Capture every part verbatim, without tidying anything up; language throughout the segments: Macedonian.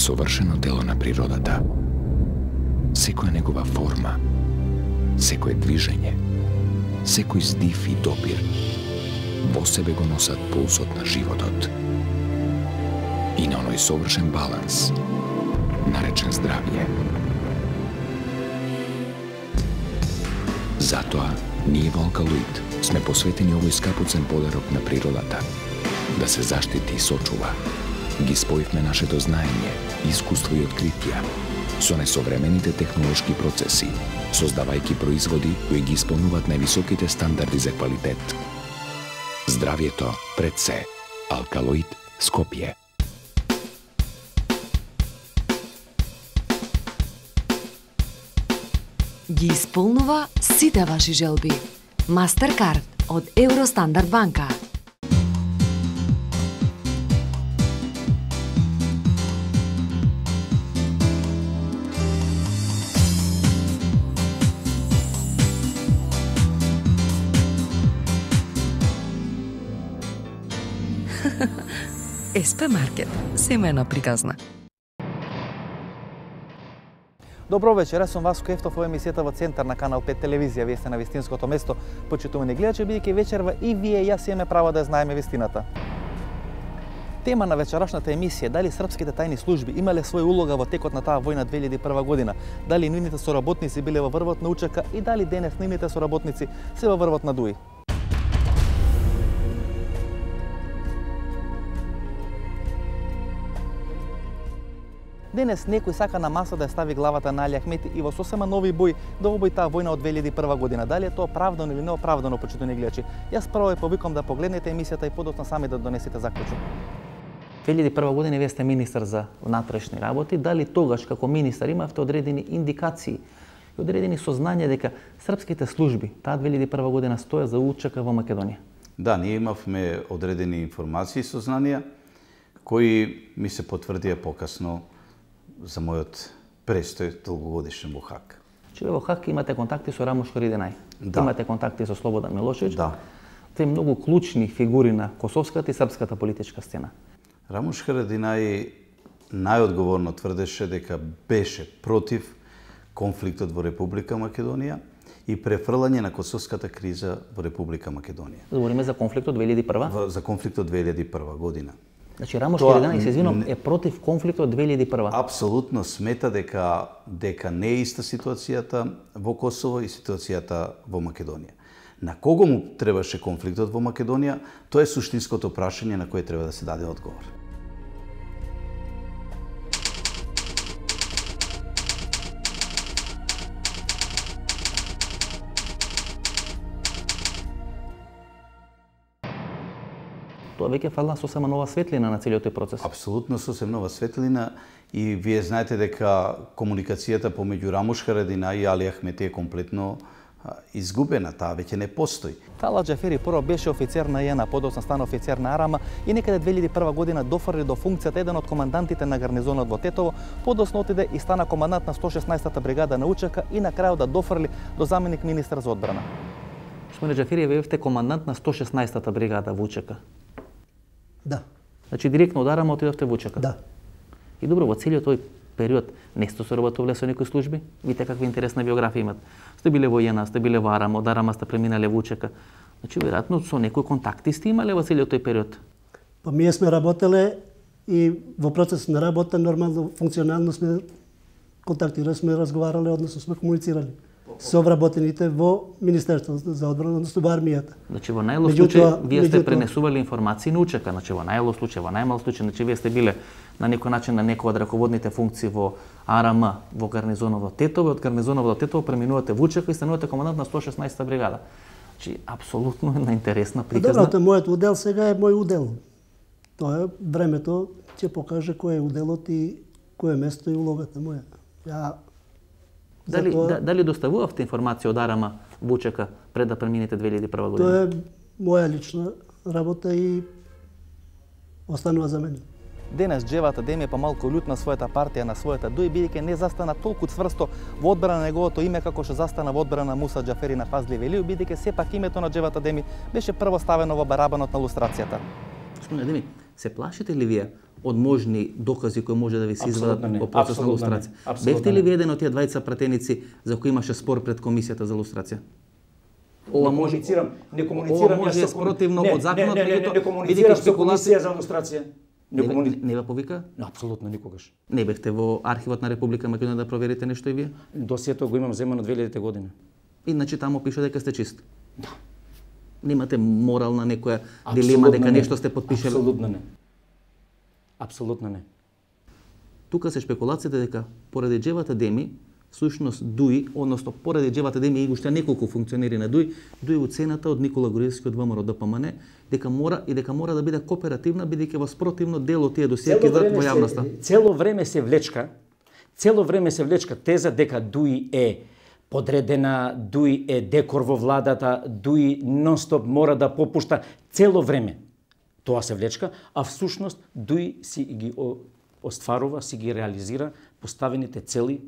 совршено дело на природата. Секоја негова форма, секое движење, секој здив и допир во себе го носат пулсот на животот. И на оној совршен баланс, наречен здравје. Затоа, ние во Алкалоид сме посветени овој скапоцен подарок на природата, да се заштити и сочува. Ги споивме нашето знаење, искуство и откритија со несовремените технолошки процеси, создавајќи производи кои ги исполнуваат највисоките стандарди за квалитет. Здравјето пред се. Алкалоид Скопје. Ги исполнува сите ваши желби. Мастеркард од Евростандард банка. ес пе Маркет, семејна приказна. Добро вечер, јас сум Васко Ефтов во емисијата во Центар на Канал пет телевизија. Вие сте на вистинското место, почитувани гледачи, бидејќи вечерва и вие и јас имаме право да знаеме вистината. Тема на вечерашната емисија, дали српските тајни служби имале своја улога во текот на таа војна две илјади и прва година, дали нивните соработници биле во врвот на УЧК и дали денес нивните соработници се во врвот на ДУИ. Денес некој сака на маса да ја стави главата на Али Ахмети и во сосема нови бои да обои таа војна од две илјади и прва година. Дали е тоа оправдано или неоправдано, почитувани гледачи? Јас прво ја повикам да погледнете емисијата и подоцна сами да донесете заклучок. две илјади и прва година вие сте министар за внатрешни работи. Дали тогаш како министар имавте одредени индикации и одредени сознања дека српските служби таа две илјади и прва година стоја за УЧК во Македонија? Да, ние имавме одредени информации и сознанија кои ми се потврдија покасно за мојот престој долгогодишен во Хаг. Че во Хаг имате контакти со Рамуш Харидинај, да. Имате контакти со Слободан Милошевиќ, да. Те многу клучни фигури на косовската и српската политичка сцена. Рамуш Харадинај најодговорно тврдеше дека беше против конфликтот во Република Македонија и префрлање на косовската криза во Република Македонија. Говориме за конфликтот две илјади и прва? За конфликтот две илјади и прва година. Значи Рамуш Харадинај, се извинувам, е против конфликтот две илјади и прва. Апсолутно смета дека дека не е иста ситуацијата во Косово и ситуацијата во Македонија. На кого му требаше конфликтот во Македонија, тоа е суштинското прашање на кое треба да се даде одговор. Тоа веќе фална сосема нова светлина на целиот тој процес. Апсолутно сосема нова светлина и вие знаете дека комуникацијата помеѓу Рамуш Харадинај и Али Ахмети е комплетно изгубена, таа веќе не постои. Тала Џафери прво беше офицер на ЈЕНА, подоцна стана офицер на Арама и некаде две илјади и прва година дофрли до функцијата еден од командантите на гарнизонот во Тетово, подоцна отиде и стана командант на сто шеснаесетта бригада на УЧК и на крајот да дофрли до заменик министар за одбрана. Господине Џафери, вие бевте командант на сто шеснаесетта бригада во УЧК. Да. Значи директно од Арама отидовте во УЧК? Да. И добро, во целиот тој период не сте соработувале со некои служби? Видите каква интересна биографија имат. Сте биле во ЈЕНА, сте биле во Арама, од Арама сте преминале во УЧК. Значи, веројатно со некои контакти сте имале во целиот тој период? Па ние сме работеле и во процес на работа нормално, функционално сме контактирали, сме разговарале, односно сме комуницирали со вработените во Министерството за одбрана, односно во армијата. Значи во најлош случај вие сте пренесували информации на УЧК, значи во најлош случај, во најмал случај, значи вие сте биле на некој начин на некој од раководните функции во АРМ, во гарнизонот во Тетово, од гарнизонот во Тетово преминувате во УЧК и станувате командант на сто шеснаесетта бригада. Значи апсолутно една интересна приказна. Добро, мојот удел сега е мој удел. Тоа е времето ќе покаже кој е уделот и кој е место и улогата моја. Ја Дали, Затоа, да, дали доставувавте информација од Арама во УЧК пред да преминете две илјади и прва година? Тоа е моја лична работа и останува за мене. Денес Џевата Деми е помалку лют на својата партија, на својата ДУИ, бидејќи не застана толку цврсто во одбрана на неговото име како што застана во одбрана на Муса Џафери на Фазли Велију, бидејќи сепак името на Џевата Деми беше прво ставено во барабанот на лустрацијата. Господине Деми, се плашите ли вие од можни докази кои може да ви се извадат во процес на лустрација. Бевте ли ви еден од тие двајца пратеници за кои имаше спор пред комисијата за лустрација? Ова може не комуницирам јас со спротивно од законот, меѓутоа не комуницирам со комисија за лустрација. Не, не, не ве повика? Апсолутно никогаш. Не бевте во архивот на Република Македонија да проверите нешто и вие? Досието го имам земено две илјадета година. Иначе таму пише дека сте чист. Да. Немате морална некоја дилема дека нешто сте подпишали? Апсолутно не. Апсолутно не. Тука се шпекулациите дека поради Џевата Деми, всушност ДУИ, односно поради Џевата Деми и уште неколку функционери на ДУИ, ДУИ уцената од Никола Груевски од ВМРО ДПМН дека мора и дека мора да биде кооперативна бидејќи во спротивно дел од тие досиеи ќе во јавноста. Цело време се влечка, цело време се влечка теза дека ДУИ е подредена, ДУИ е декор во владата, ДУИ нон-стоп мора да попушта цело време. Тоа се влечка, а всушност ДУИ си ги остварува, си ги реализира поставените цели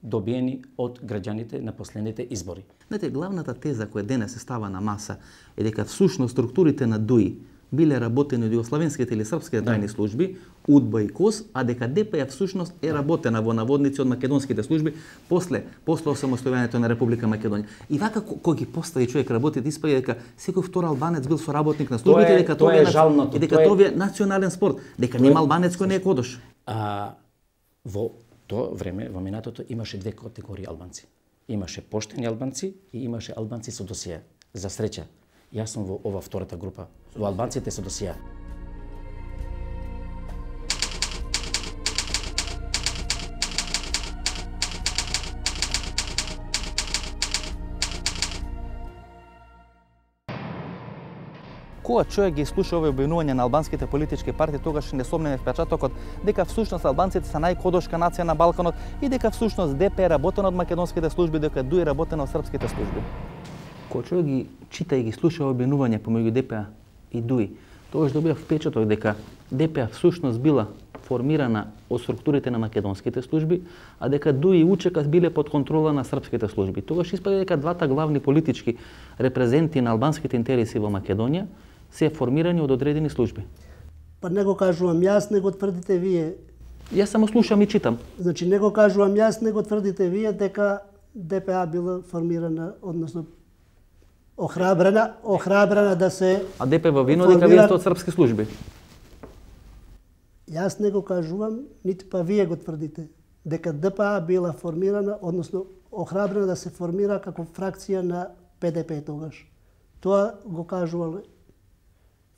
добиени од граѓаните на последните избори. Знаете, главната теза која денес се става на маса е дека всушност структурите на ДУИ биле работени од југословенските или српските тајни служби, УДБА и КОС, а дека ДП всушност е работена во наводници од македонските служби после после осамостојувањето на Република Македонија. И вака кој ги постави човек работите, испаѓа дека секој втор албанец бил соработник на службите, тоа е, дека тоа е жалното, и дека тоа е национален спорт, дека нема албанец кој не е кодош. А во тоа време, во минатото, имаше две категории албанци. Имаше поштени албанци и имаше албанци со досие. За среќа, јас сум во ова втората група, во албанците со досие. Кога човек ги слуша овие обвинувања на албанските политички партии, тогаш не сомнеме впечатокот дека всушност албанците се најкодошка нација на Балканот и дека всушност ДП е работена од македонските служби, дека ДУИ е работена од српските служби. Кога човек ги чита и ги слуша обвинувања помеѓу ДП и ДУИ, тогаш добива впечаток дека ДП всушност била формирана од структурите на македонските служби, а дека ДУИ и УЧК биле под контрола на српските служби. Тогаш испаѓа дека двата главни политички репрезенти на албанските интереси во Македонија се формирани од одредени служби. Па не го кажувам јас, не го тврдите вие. Јас само слушам и читам. Значи не го кажувам јас, не го тврдите вие дека ДПА била формирана, односно охрабрена, охрабрена да се А ДП во вино дека вие сте од српски служби. Јас не го кажувам, ниту па вие го тврдите дека ДПА била формирана, односно охрабрена да се формира како фракција на ПДП тогаш. Тоа го кажувале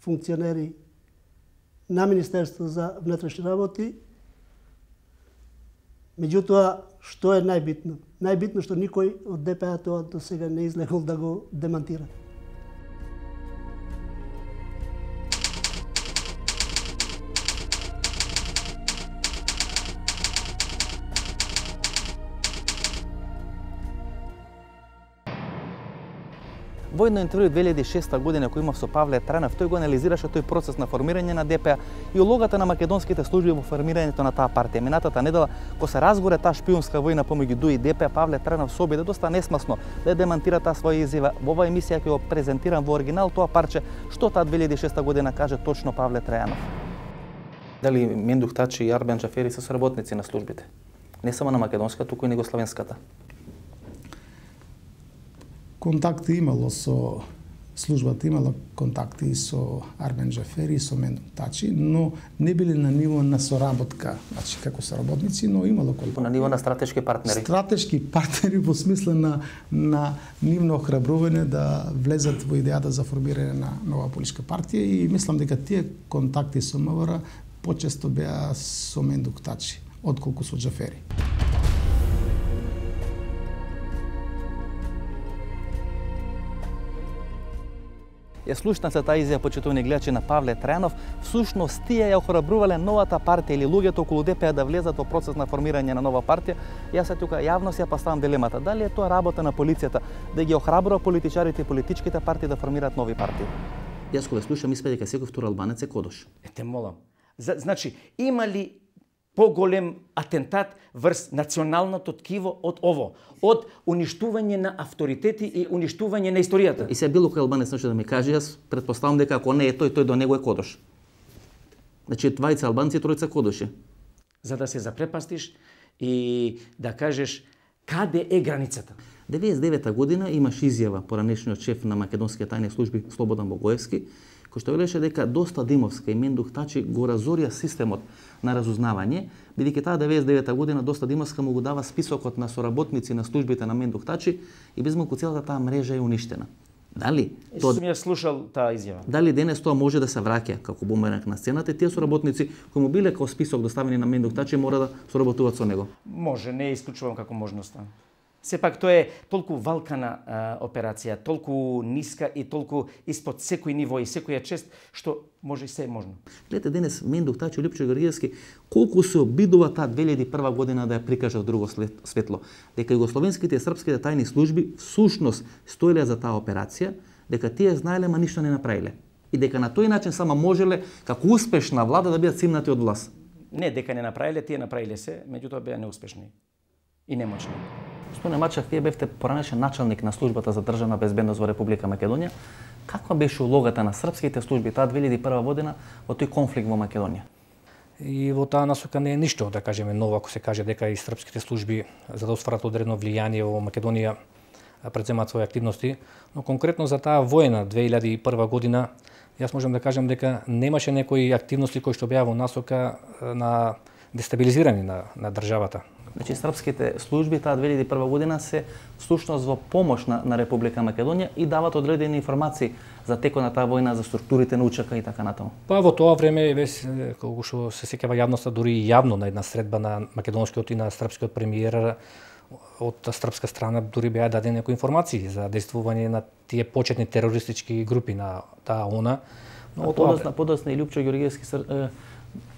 функционери на Министерство за внатрешни работи. Меѓутоа, што е најбитно? Најбитно што никој од ДПА тоа до сега не излегол да го демантира. Во едно интервју две илјади и шеста година кој имав со Павле Трајнов, тој го анализираше тој процес на формирање на ДПА и улогата на македонските служби во формирањето на таа партија. Минатата недела, кога се разгоре таа шпиунска војна помеѓу ДУИ и ДПА, Павле Трајнов се обиде доста несмасно да демантира таа своја изјава. Во оваа емисија ќе го презентирам во оригинал тоа парче што таа две илјади и шеста година каже точно Павле Трајнов. Дали Мендух Тачи и Арбен Џафери се соработници на службите? Не само на македонската, туку и югословенската. Контакти имало со службата, имала контакти со Арбен Џафери и со Мендух Тачи, но не биле на ниво на соработка, значи како соработници, но имало контакти. На ниво на стратешки партнери. Стратешки партнери во смисла на на нивно охрабрување да влезат во идејата за формирање на нова политичка партија и мислам дека тие контакти со МВР почесто беа со Мендух Тачи, отколку со Џафери. Ја слушна се таа изјава, почитувани гледачи, на Павле Трајнов. Всушност тие ја охрабрувале новата партија или луѓето околу ДПА да влезат во процес на формирање на нова партија. Јас се тука јавно си ја поставам дилемата. Дали е тоа работа на полицијата да ги охрабрува политичарите и политичките партии да формираат нови партии? Јас кога слушам испаѓа дека секој втор албанец е кодош. Е, те молам. Значи, има ли поголем атентат врз националното ткиво од ово, од уништување на авторитети и уништување на историјата? И се било кој албанец може да ми каже, јас претпоставам дека ако не е тој, тој до него е кодош. Значи двајца албанци, тројца кодоши. За да се запрепастиш и да кажеш каде е границата. деветдесет и девета година имаш изјава поранешниот шеф на македонските тајни служби Слободан Богоевски, кој што велеше дека доста Димовска и Мендух Тачи го разорија системот на разузнавање, бидејќи таа деветдесет и девета година доста Димовска му го дава списокот на соработници на службите на Мендух Тачи и без малку целата таа мрежа е уништена. Дали тоа сум ја слушал таа изјава. Дали денес тоа може да се враќа како бумеранг на сцената, тие соработници кои му биле како список доставени на Мендух Тачи мора да соработуваат со него? Може, не исклучувам како можноста. Сепак тоа е толку валкана а, операција, толку ниска и толку испод секој ниво и секоја чест, што може и се е можно. Гледате денес Мендух Тачи и Лјупчо Георгиевски колку се обидува таа две илјади и прва година да ја прикаже од друго светло, дека југословенските и српските тајни служби всушност стоеле за таа операција, дека тие знаеле, ма ништо не направиле. И дека на тој начин само можеле како успешна влада да бидат симнати од власт. Не дека не направиле, тие направиле се, меѓутоа беа неуспешни и немочни. Господине Мачев, вие бевте поранешен началник на службата за државна безбедност во Република Македонија. Каква беше улогата на српските служби таа две илјади и прва година во тој конфликт во Македонија? И во таа насока не е ништо, да кажеме, ново, ако се каже дека и српските служби за да остварат одредено влијание во Македонија предземаат своји активности, но конкретно за таа војна две илјади и прва година, јас можам да кажам дека немаше некои активности кои што беа во насока на дестабилизирање на, на државата. Значи, српските служби таа две илјади и прва година се всушност во помош на, на Република Македонија и дават одредени информации за текот на таа војна, за структурите на УЧК и така натаму. Па во тоа време, колку што се сеќава јавноста, дури и јавно на една средба на македонскиот и на српскиот премиер од српска страна дури беа дадени некои информации за действување на тие почетни терористички групи на таа ОНА. Но подосна, подосна и Лјупчо Георгиевски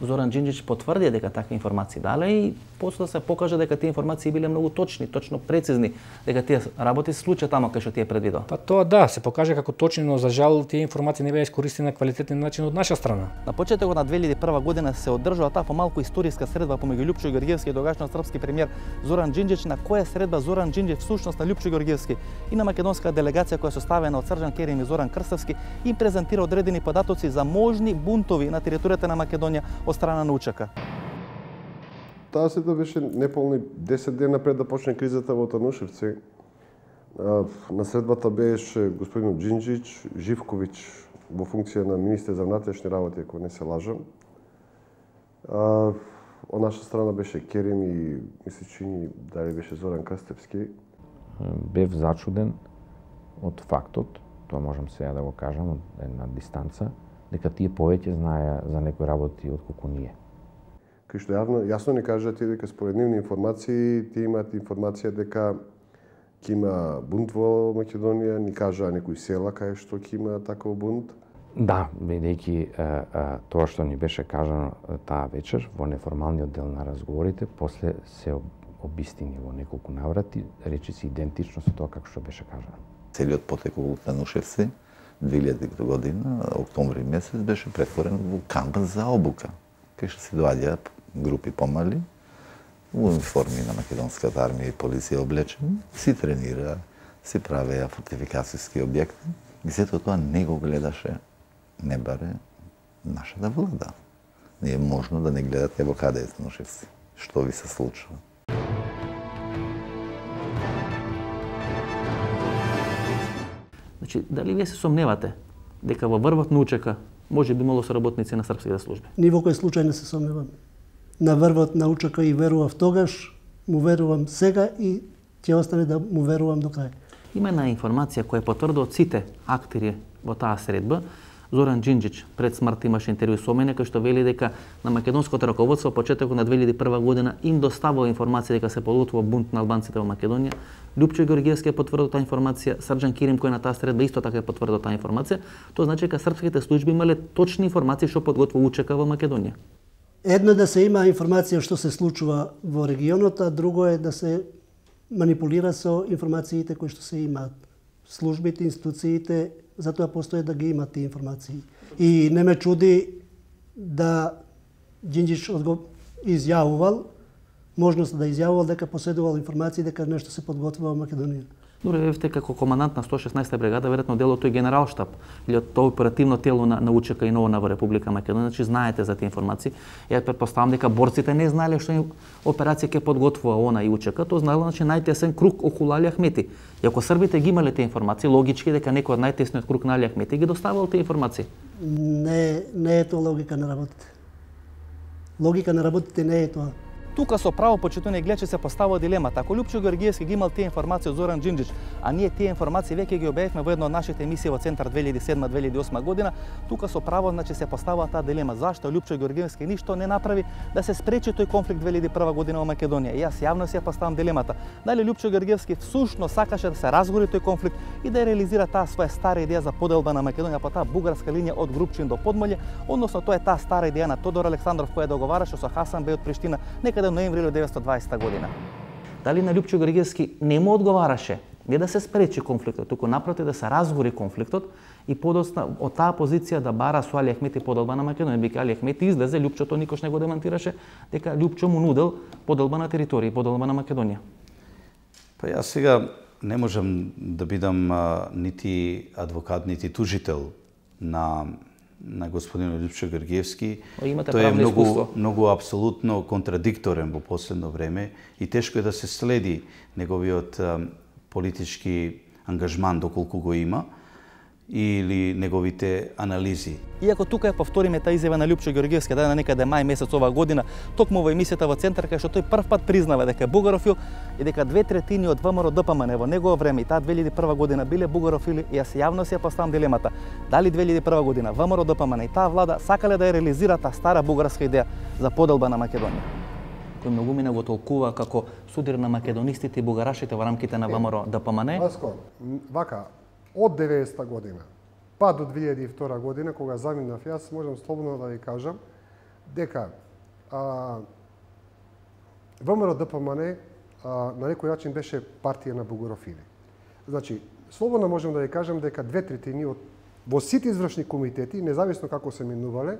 Зоран Џинџич потврди дека такви информации дале и после да се покаже дека тие информации биле многу точни, точно прецизни, дека тие работи се случат тамо кај што тие предвидел. Па тоа да, се покаже како точни, но за жал тие информации не беа искористени на квалитетен начин од наша страна. На почетокот на две илјади и прва година се одржува таа помалку историска средба помеѓу Лјупчо Георгиевски и тогашниот српски премиер Зоран Џинџич, на која средба Зоран Џинџич всушност на Лјупчо Георгиевски и на македонска делегација која составена од Срđan Керим и Зоран Крстевски им презентира одредени податоци за можни бунтови на територијата на Македонија од страна на УЧК. Таа средба беше неполни десет дена пред да почне кризата во Танушевци. На средбата беше господин Џинџич, Живковиќ во функција на министер за внатрешни работи, ако не се лажам. Од наша страна беше Керим и мисли чини дали беше Зоран Крстевски. Бев зачуден од фактот, тоа можам сега да го кажам од една дистанца, дека тие повеќе знаеа за некои работи отколку ние. Кај што јавно, јасно ни кажат и дека според нивни информации, тие имаат информација дека ќе има бунт во Македонија, ни кажаа некои села кај што ќе има таков бунт. Да, бидејќи тоа што ни беше кажано таа вечер во неформалниот дел на разговорите, после се обистини во неколку наврати, речиси идентично со тоа како што беше кажано. Целиот потек во Танушевци две илјади година, октомври месец, беше претворен во камп за обука, кај што се доаѓаат групи помали, во униформи на македонската армија и полиција облечени, си тренира, си правеа фортификацијски објекти. И сето тоа не го гледаше, не баре нашата влада. Не е можно да не гледате во каде е Танушевци, што ви се случува. Значи, дали вие се сомневате дека во врвот на УЧК може би имало соработници на српските служби? Ни во кој случај не се сомневам. На врвот на УЧК и верував тогаш, му верувам сега и ќе остане да му верувам до крај. Има една информација која потврдува од сите актери во таа средба. Зоран Џинџич пред смрт имаше интервју со мене кај што вели дека на македонското раководство почетокот на две илјади и прва година им доставува информација дека се подготвува бунт на албанците во Македонија. Лјупчо Георгиевски е потврдил таа информација, Срđan Керим кој на таа средба исто така е потврдил таа информација. Тоа значи дека српските служби имале точни информации што подготвува УЧК во Македонија. Едно е да се има информација што се случува во регионот, а друго е да се манипулира со информациите кои што се имаат. Службите, институциите, затоа постои да ги имат тие информации. И не ме чуди да Џинџич изјавувал, можност да изјавувал дека поседувал информации дека нешто се подготвува во Македонија. Добре, вевте како командант на сто и шеснаесета бригада, веројатно дел од тој генералштаб или од тоа оперативно тело на, на УЧК и НОО во Република Македонија, значи знаете за тие информации. Ја претпоставам дека борците не знаеле што операција ќе подготвува ОНА и УЧК, тоа знаело значи најтесен круг околу Али Ахмети. И ако србите ги имале тие информации, логички дека некој од најтесниот круг на Али Ахмети ги доставал тие информации. Не, не е тоа логика на работите. Логика на работите не е тоа. Тука со право почитувани гледачи се поставува дилемата. Ако Лјупчо Георгиевски ги имал тие информации од Зоран Џинџич, а ние тие информации веќе ги објавивме во една од нашите емисии во Центар две илјади и седма - две илјади и осма година, тука со право значи се поставува таа дилема зашто Лјупчо Георгиевски ништо не направи да се спречи тој конфликт две илјади и прва година во Македонија. И јас јавно си ја поставам дилемата. Дали Лјупчо Георгиевски всушност сакаше да се разгори тој конфликт и да реализира таа своја стара идеја за поделба на Македонија по таа бугарска линија од Групчин до Подмолје, односно тоа е таа стара идеја на Тодор Александров која договараше со Хасан Беј од Приштина некаде ноември илјадесетстотини и дваесета година. Дали на Лјупчо Георгиевски не му одговараше не да се спречи конфликтот, туку напротив да се разгори конфликтот и подоцна од таа позиција да бара со Али Ахмети поделба на Македонија, бидејќи Али Ахмети излезе, Лјупчо тоа никош не го демантираше, дека Лјупчо му нудел поделба на територија, поделба на Македонија. Па јас сега не можам да бидам а, нити адвокат, нити тужител на на господин Лјупчо Георгиевски. Тој е многу, искуство. многу апсолутно контрадикторен во последно време и тешко е да се следи неговиот а, политички ангажман доколку го има или неговите анализи. Иако тука ја повториме таа изјава на Лјупчо Георгиевски дадена некаде мај месец оваа година, токму во емисијата во Центар, кај што тој прв пат признава дека е бугарофил и дека две третини од ВМРО ДПМН во негово време и таа две илјади и прва година биле бугарофили, и јас јавно си ја поставам дилемата. Дали две илјади и прва година ВМРО ДПМН и таа влада сакале да ја реализира таа стара бугарска идеја за поделба на Македонија? Кој многумина го толкува како судир на македонистите и бугарашите во рамките на ВМРО ДПМН. Васко, вака, од деветдесета година па до две илјади и втора година, кога заминав јас, можам слободно да ви кажам дека а, ВМРО ДПМН а, на некој начин беше партија на бугарофили. Значи, слободно можам да ви кажам дека две третини од во сите извршни комитети, независно како се менувале,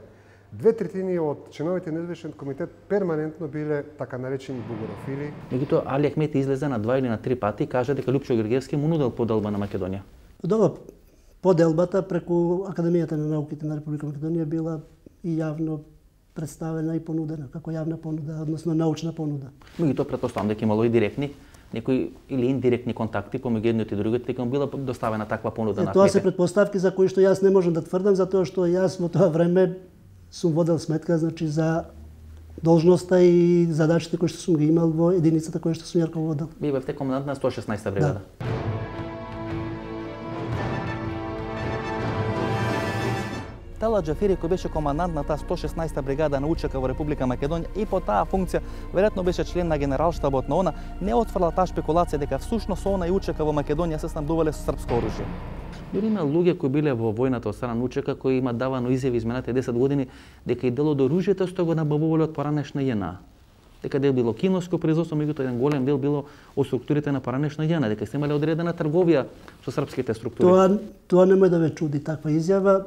две третини од членовите на извршен комитет перманентно биле така наречени бугарофили. Меѓутоа Али Ахмети излезе на два или на три пати и кажа дека Лјупчо Георгиевски му нудел поделба на Македонија. Добро, поделбата преку Академијата на науките на Република Македонија била и јавно представена и понудена како јавна понуда, односно научна понуда. Меѓутоа претпоставам дека имало и директни некои или индиректни контакти помеѓу едниот и другиот, дека му била доставена таква понуда на Ахмети. Тоа се претпоставки за кои што јас не можам да тврдам, затоа што јас во тоа време сум водел сметка, значи, за должноста и задачите кои што сум ги имал во единицата која што сум ја рководел. Вие бевте комендант на сто и шеснаесета бригада. Да. Тела Џафери, кој беше командант на таа сто и шеснаесета бригада на УЧК во Република Македонија и по таа функција, веројатно беше член на генералштабот на ОНА, не отфрла таа шпекулација дека всушност ОНА и УЧК во Македонија се снабдувале со српско оружје. Дори има луѓе кои биле во војната од страна на УЧК кои имаат давано изјави изминатите десет години дека и дел од оружјето што го набавувале од поранешна ЈНА. Дека дел било киноско производство, меѓутоа еден голем дел било од структурите на поранешна ЈНА, дека се имале одредена трговија со српските структури. Тоа тоа немој да ве чуди таква изјава.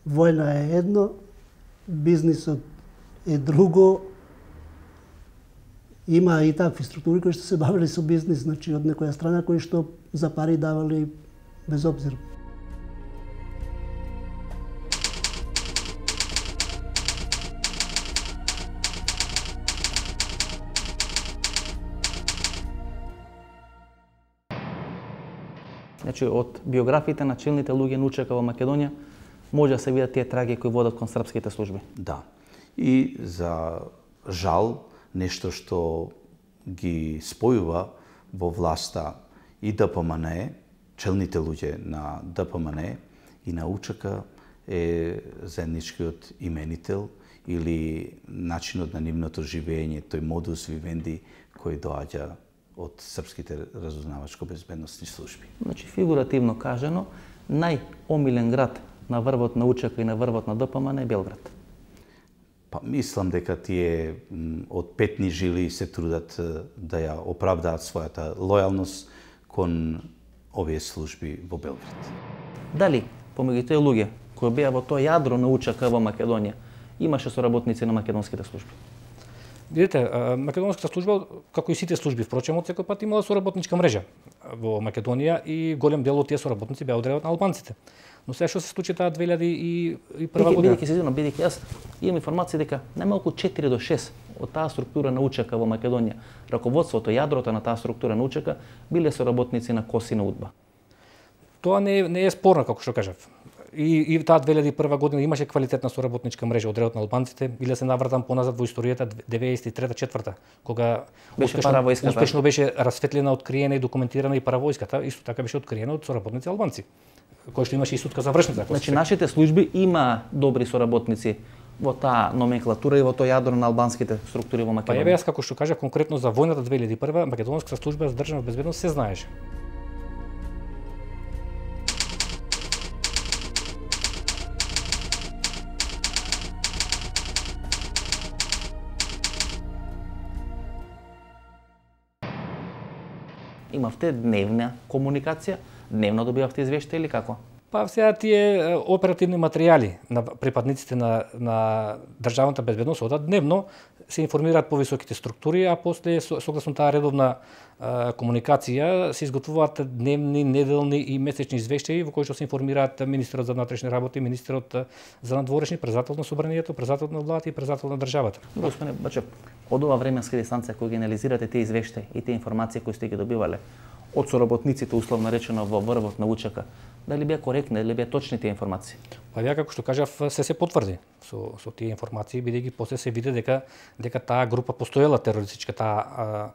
Војна е едно, бизнисот е друго. Има и такви структури кои што се бавеле со бизнис, значи од некоја страна кои што за пари давали без обзир. Значи од биографиите на челните луѓе на УЧК во Македонија може да се видат тие траги кои водат кон српските служби. Да. И за жал, нешто што ги спојува во власта и ДПМН, челните луѓе на ДПМН и на УЧК е заедничкиот именител или начинот на нивното живење, тој модус вивенди кој доаѓа од српските разузнавачко-безбедносни служби. Значи, фигуративно кажано, најомилен град на врвот на УЧК и на врвот на ДПМН е Белград. Па мислам дека тие од петни жили се трудат да ја оправдаат својата лојалност кон овие служби во Белград. Дали помеѓу тие луѓе кои беа во тоа јадро на УЧК во Македонија имаше соработници на македонските служби? Видите, македонската служба, како и сите служби, впрочем, од секој пат имала соработничка мрежа во Македонија и голем дел од тие соработници беа одредени на албанците. Но сега што се случи таа две илјади и прва година? Бидејќи се извинувам, бидејќи јас имам информација дека најмалку четири до шест од таа структура на УЧК во Македонија, раководството, јадрото на таа структура на УЧК биле соработници на КОС и на УДБА. Тоа не е, не е спорно, како што кажав. И, и таа две илјади и прва година имаше квалитетна соработничка мрежа од редот на албанците, биле се навратам поназад во историјата деветдесет и трета четврта, кога беше успешно, паравојската. успешно беше расветлена, откриена и документирана и паравојската, исто така беше откриена од соработници албанци, кој што имаше и судка завршница. Значи нашите служби има добри соработници во таа номенклатура и во тоа јадро на албанските структури во Македонија. Па еве јас како што кажав конкретно за војната две илјади и прва, македонската служба за државна безбедност се знаеше. Имавте дневна комуникација, дневно добивавте извештаи или како? Па сега тие оперативни материјали на припадниците на, на државната безбедност одат дневно, се информираат повисоките структури, а после согласно таа редовна а, комуникација се изготвуваат дневни, неделни и месечни извештаи во кои што се информираат министерот за внатрешни работи, министерот за надворешни, председател на собранието, председател на владата и председател на државата. Господине Бачев, од ова временска дистанција кој ги анализирате тие извештаи и тие информации кои сте ги добивале од соработниците, условно речено во врвот на УЧК, дали беа коректни, дали беа точни тие информации? Па ја како што кажав, се се потврди со со тие информации, бидејќи после се види дека дека таа група постоела терористичка, таа а,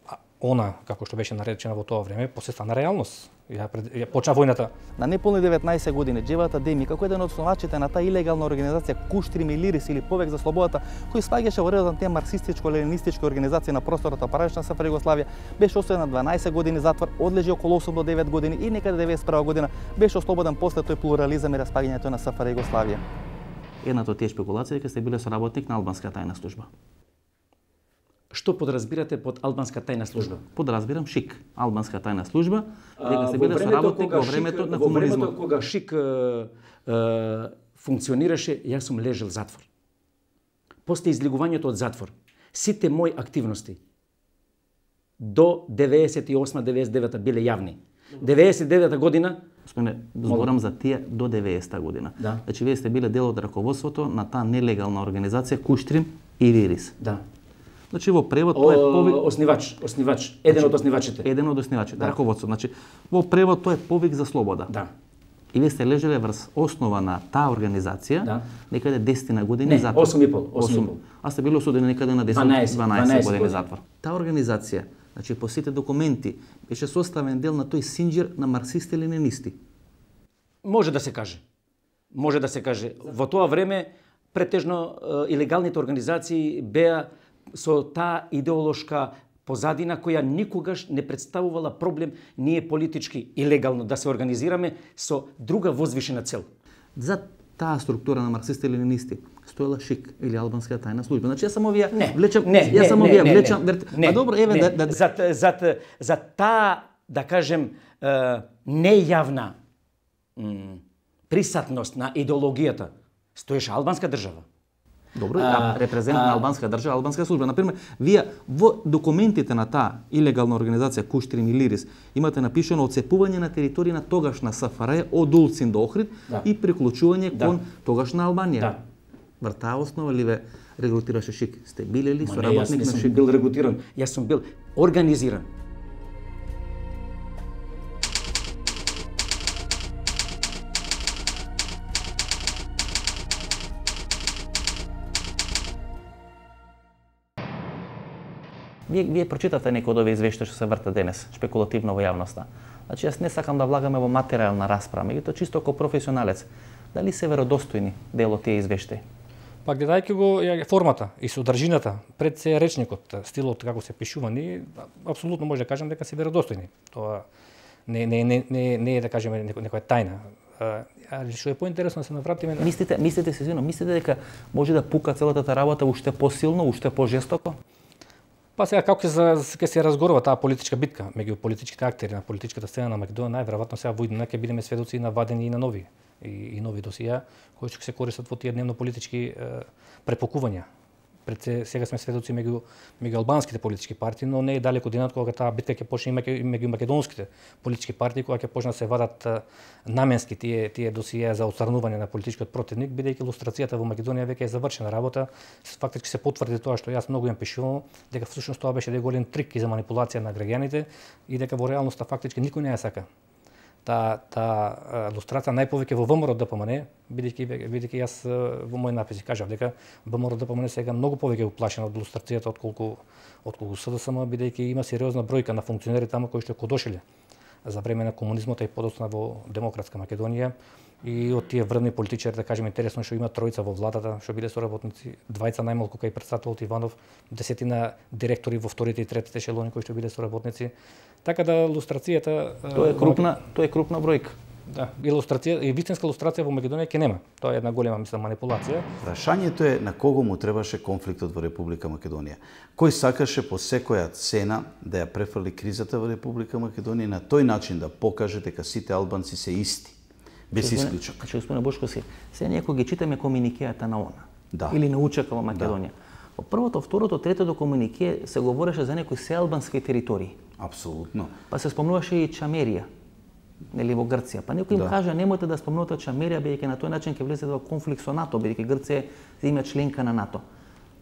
а, она како што беше наречена во тоа време, после стана реалност. Ја, пред, ја почна војната. На неполни деветнаесет години Џевдет Адеми, како еден од основачите на таа илегална организација Куштри Милирис или Повеќе за слободата, кој спаѓаше во редот на тие марксистичко-ленинистички организации на просторот на паралелна СФР Југославија, беше осуден на дванаесет години затвор, одлежи околу осум до девет години и некаде деветдесет и прва година беше ослободен после тој плурализам и распаѓањето на СФР Југославија. Едната од тие шпекулации дека сте биле соработник на албанска тајна служба. Што подразбирате под албанска тајна служба? Подразбирам ШИК, албанска тајна служба, дека сте биле соработник во времето на комунизмот. Во времето кога ШИК е, е, функционираше, јас сум лежел затвор. После излегувањето од затвор, сите мои активности до деветдесет и осма деветдесет и девета биле јавни. деветдесет и девета година, Спомене, зборам за тие до деветдесета година. Да. Значи вие сте биле дел од раководството на таа нелегална организација Куштрим и Ририс. Да. Значи во превод тоа е повик... Оснивач, оснивач, еден од оснивачите. Еден од оснивачите, Да. раководство. Значи во превод тоа е повик за слобода. Да. И вие сте лежеле врз основа на таа организација, Да. некаде десет години Не, затвор. осум и пол, осум и пол. А сте били осудени некаде на десет, дванаесет, дванаесет дванаесет години години. затвор. Таа организација, значи по сите документи, беше составен дел на тој синџир на марксисти-ленинисти. Може да се каже. Може да се каже. Во тоа време претежно е, илегалните организации беа со таа идеолошка позадина која никогаш не представувала проблем ние политички и легално да се организираме со друга возвишена цел. За таа структура на марксисти-ленинисти стоела ШИК или албанска тајна служба. Значи јас само вија Не, влечам, не, јас не, само не, вија не, влечам, не, верт... не, а добро, еве не, да, да... За, за, за таа, да кажем, е, нејавна м, присатност на идеологијата стоеше албанска држава. Добро, А, а, репрезент а, на албанска држава, албанска служба. Например, вие во документите на таа илегална организација Куштри Милирис имате напишано отцепување на територија на тогашна СФР од Улцин до Охрид Да. и приклучување Да. кон тогашна Албанија. Да. Вр таа основа ли ве регрутираше ШИК? Сте биле ли Ма не, јас соработник не на сум ШИК? бил регрутиран, јас сум бил организиран. Вие, вие прочитате некои од овие извештаи што се вртат денес, шпекулативно во јавноста. Значи, јас не сакам да влагаме во материјална расправа, меѓутоа чисто како професионалец, дали се веродостојни дел од тие извештаи? Па гледајќи го ја, формата и содржината, пред се речникот, стилот како се пишувани, апсолутно може да кажам дека се веродостојни. Тоа не не не не, не е да кажеме некоја тајна. Али што е поинтересно да се навратиме на... Мислите, мислите се извинувам, мислите дека може да пука целата таа работа уште посилно, уште пожестоко? Па сега како ќе се, ќе се разгорува таа политичка битка меѓу политичките актери на политичката сцена на Македонија, најверојатно сега во иднина ќе бидеме сведоци на вадени и на нови и, и нови досија кои ќе се користат во тие дневно политички е, препокувања пред се, сега сме сведоци меѓу меѓу албанските политички партии, но не е далеко денот кога таа битка ќе почне и меѓу македонските политички партии, кога ќе почнат се вадат наменски тие тие досиеа за отстранување на политичкиот противник, бидејќи лустрацијата во Македонија веќе е завршена работа. Фактички се потврди тоа што јас многу им пишувам, дека всушност тоа беше голем трик и за манипулација на граѓаните и дека во реалноста фактички никој не ја сака. Та та лустрација најповеќе во ВМРО ДПМН, бидејќи бидејќи јас во мој написи кажав дека ВМРО ДПМН сега многу повеќе уплашено од лустрацијата отколку отколку СДСМ, бидејќи има сериозна бројка на функционери таму кои што кодошеле за време на комунизмот и подоцна во демократска Македонија. И од тие врвни политичари, да кажеме, интересно што има тројца во владата, што биле соработници, двајца најмалку кај претставител Иванов, десетина директори во вторите и третите ешелони кои што биле соработници. Така да лустрацијата тоа е крупна, тоа е крупна бројка. Да, илустрација и вистинска лустрација во Македонија ќе нема. Тоа е една голема, мислам, манипулација. Прашањето е на кого му требаше конфликтот во Република Македонија. Кој сакаше по секоја цена да ја префрли кризата во Република Македонија и на тој начин да покаже дека сите албанци се исти. Без исклучок. Значи, господине Бошко, се некој ги читаме комуникејата на ОНА. Да. Или на УЧК во Македонија. Во првото, второто, третото комунике се говореше за некои сеалбански територии. Апсолутно. Па се спомнуваше и Чамерија, нели во Грција. Па некој им да. кажа немојте да спомнувате Чамерија, бидејќи на тој начин ќе влезете во конфликт со НАТО, бидејќи Грција има членка на НАТО.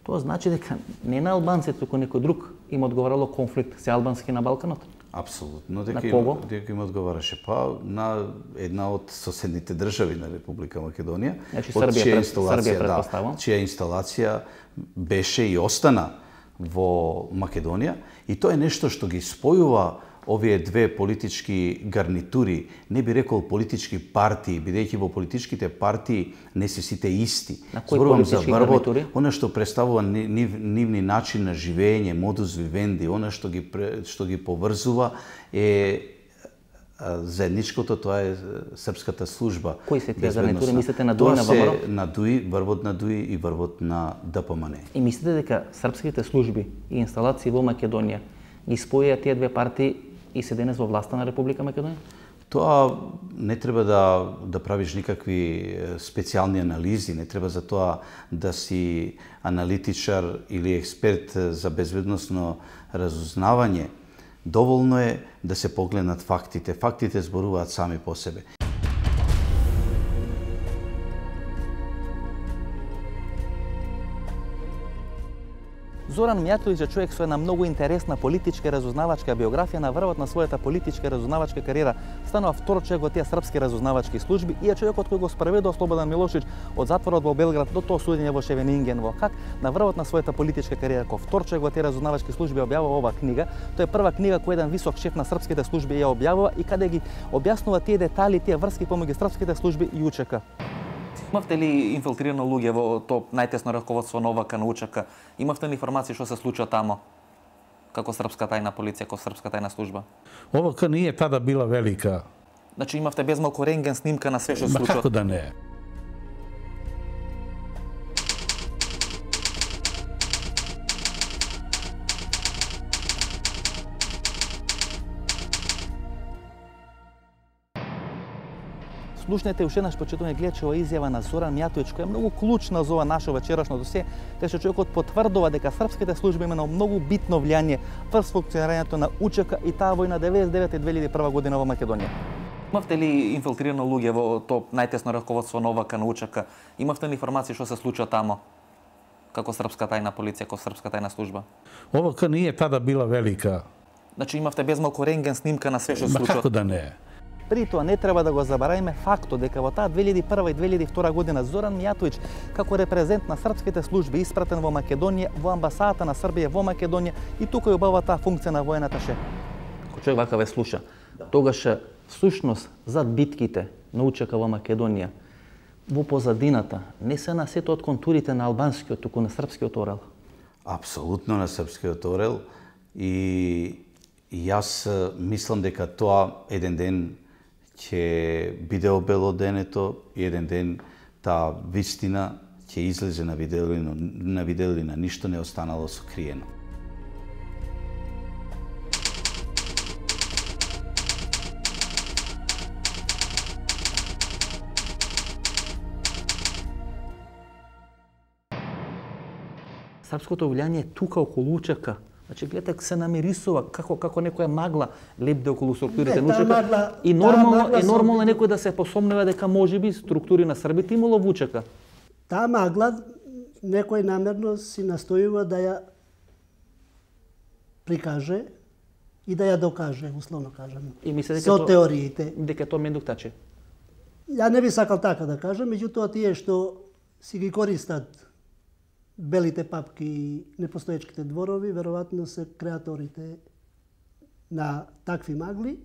Тоа значи дека не на албанците, туку некој друг им одговарало конфликт се албански на Балканот. Апсолутно, дека им, дека им одговараше па на една од соседните држави на Република Македонија, значи, Србија, чија инсталација, да, чија инсталација беше и остана во Македонија, и тоа е нешто што ги спојува овие две политички гарнитури, не би рекол политички партии, бидејќи во политичките партии не се сите исти. Зборувам за врвот, она што представува нив, нивни начин на живење, модус вивенди, она што ги што ги поврзува е заедничкото, тоа е српската служба. Кои се тие гарнитури? Мислите на ДУИ, на ВМРО? На ДУИ, врвот на ДУИ и врвот на ДПМН. И мислите дека српските служби и инсталации во Македонија ги споја тие две партии и се денес во власта на Република Македонија? Тоа не треба да да правиш никакви специјални анализи, не треба за тоа да си аналитичар или експерт за безбедносно разузнавање. Доволно е да се погледнат фактите. Фактите зборуваат сами по себе. Зоран Мијатовиќ е човек со една многу интересна политичка разузнавачка биографија. На врвот на својата политичка разузнавачка кариера станува втор човек во тие српски разузнавачки служби и е човекот кој го спроведува Слободан Милошевиќ од затворот во Белград до тоа судење во Шевенинген во Хаг. На врвот на својата политичка кариера кој втор човек во тие разузнавачки служби објавува оваа книга. Тоа е прва книга која еден висок шеф на српските служби ја објавува и каде ги објаснува тие детали, тие врски помеѓу српските служби и УЧК. Имавте ли инфилтрирано луѓе во тоа најтесно раководство на ОВК, на УЧК? Имавте ли информации што се случува тамо? Како српска тајна полиција, како српска тајна служба? ОВК nije tada bila velika. Значи имавте безмалку рентген снимка на све што се случува? Како да не? Слушнете уште еднаш, почитувани гледачи, ова изјава на Зоран Мијатовиќ, која е многу клучна за ова наше вечерашно досе, кај што човекот потврдува дека српските служби имаат многу битно влијание врз функционирањето на УЧК и таа војна деветдесет и девета и две илјади и прва година во Македонија. Имавте ли инфилтрирано луѓе во тоа најтесно раководство на ОВК, на УЧК? Имавте ли информации што се случува тамо? Како српска тајна полиција, како српска тајна служба? ОВК nije tada bila velika. Значи имавте безмалку рентген снимка на све што се случува? Како да не? При тоа не треба да го забораваме фактот дека во таа две илјади и прва и две илјади и втора година Зоран Мијатовиќ како репрезент на српските служби испратен во Македонија, во амбасадата на Србија во Македонија и тука ја обава таа функција на воената шеф. Ако човек вака ве слуша, тогаш всушност зад битките на УЧК во Македонија во позадината не се на сето од контурите на албанскиот, туку на српскиот орел. Апсолутно на српскиот орел и јас мислам дека тоа еден ден ќе биде обелоденето и еден ден таа вистина ќе излезе на виделина, на виделина, ништо не останало сокриено. српското влијание е тука околу УЧК. Значи, гледате, се намирисува како како некоја магла лепде околу структурите на УЧК. И нормално е нормално некој да се посомнува дека можеби структури на србите имало во УЧК. Таа магла некој намерно си настојува да ја прикаже и да ја докаже, условно кажам. И мислите со то, теориите. Дека тоа мендуктаче. Ја не би сакал така да кажам, меѓутоа тие што си ги користат белите папки и непостоечките дворови, веројатно се креаторите на такви магли.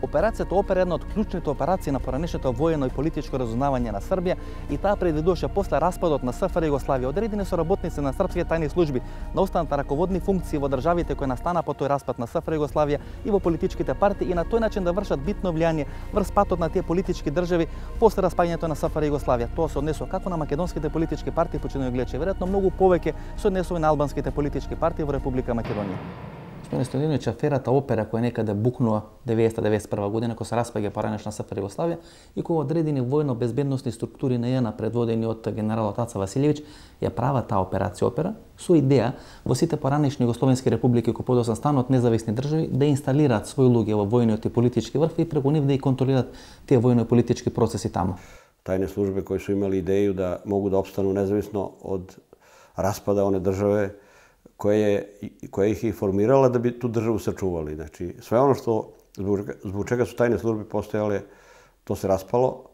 Операцијата Опера е една од клучните операции на поранешното воено и политичко разузнавање на Србија и таа предвидуваше после распадот на СФР Југославија одредени соработници на српските тајни служби да останат на раководни функции во државите кои настана по тој распад на СФР Југославија и во политичките партии и на тој начин да вршат битно влијание врз патот на тие политички држави после распаѓањето на СФР Југославија. Тоа се однесува како на македонските политички партии, починајќи гледачи, веројатно многу повеќе се однесува на албанските политички партии во Република Македонија. Господине Стојановиќ, аферата Опера која некаде букнува деветдесета до деветдесет и прва година кога се распаѓа поранешна СФР Југославија и кога одредени војно-безбедносни структури на ЈНА предводени од генералот Аца Василевиќ ја прават таа операција Опера со идеја во сите поранешни југословенски републики кои подоцна станат независни држави да инсталираат своји луѓе во војниот и политички врв и преку нив да и контролираат тие војно и политички процеси таму. Тајни служби кои се имали идеју да могу да опстану независно од распада оне државе која која их е формирала да би ту државу сачували. Значи, све оно што због чега су тајни служби постојале, то се распало,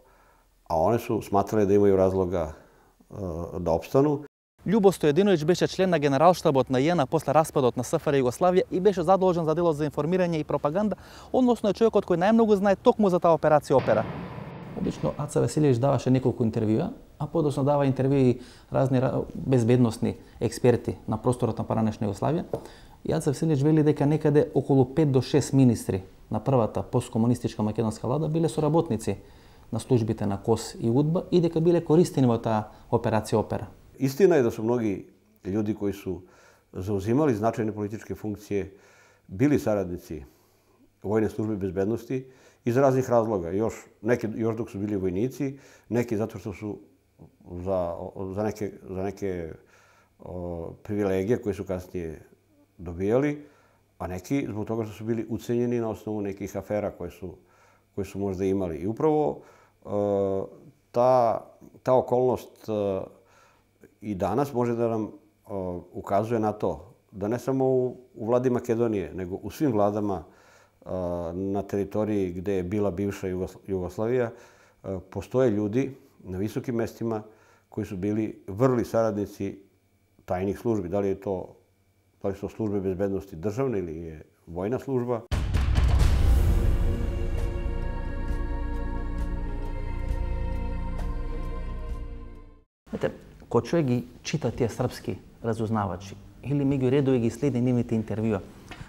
а они су сматрале да имају разлога е, да опстану. Љубо Стојадиновиќ беше член на генералштабот на ЈНА после распадот на СФР Југославија и беше задолжен за делот за информирање и пропаганда, односно е човекот кој најмногу знае токму за таа операција Опера. Обично Аца Василевиќ даваше неколку интервјуа, а подоцна дава интервјуи разни безбедносни експерти на просторот на поранешна Југославија. И Аца Василевиќ вели дека некаде околу пет до шест министри на првата посткомунистичка македонска влада биле соработници на службите на КОС и УДБА и дека биле користени во таа операција Опера. Истина е да су многи луѓи кои су заузимали значајни политички функции били сарадници војни служби безбедности из разних разлога. Још неки још док су били војници, неки затоа што су за за неке за неке о, привилегија кои су каснije добијали, а неки због тога што су били уценjeni на основу неких афера кои су кои су можда имали. И управо е, та та околност е, и данас може да нам е, указуе на то да не само у, у влади Македонije, него у свим владама е, на територiji gde je bila bivša Jugoslavija postoje ljudi na visokim mestima koji su bili vrli saradnici tajnih službi. Da li je to, da li su to službe bezbednosti državne ili je vojna služba. Знаете, кога човек ги чита тие српски разузнавачи или меѓу редови ги следи нивните интервјуа,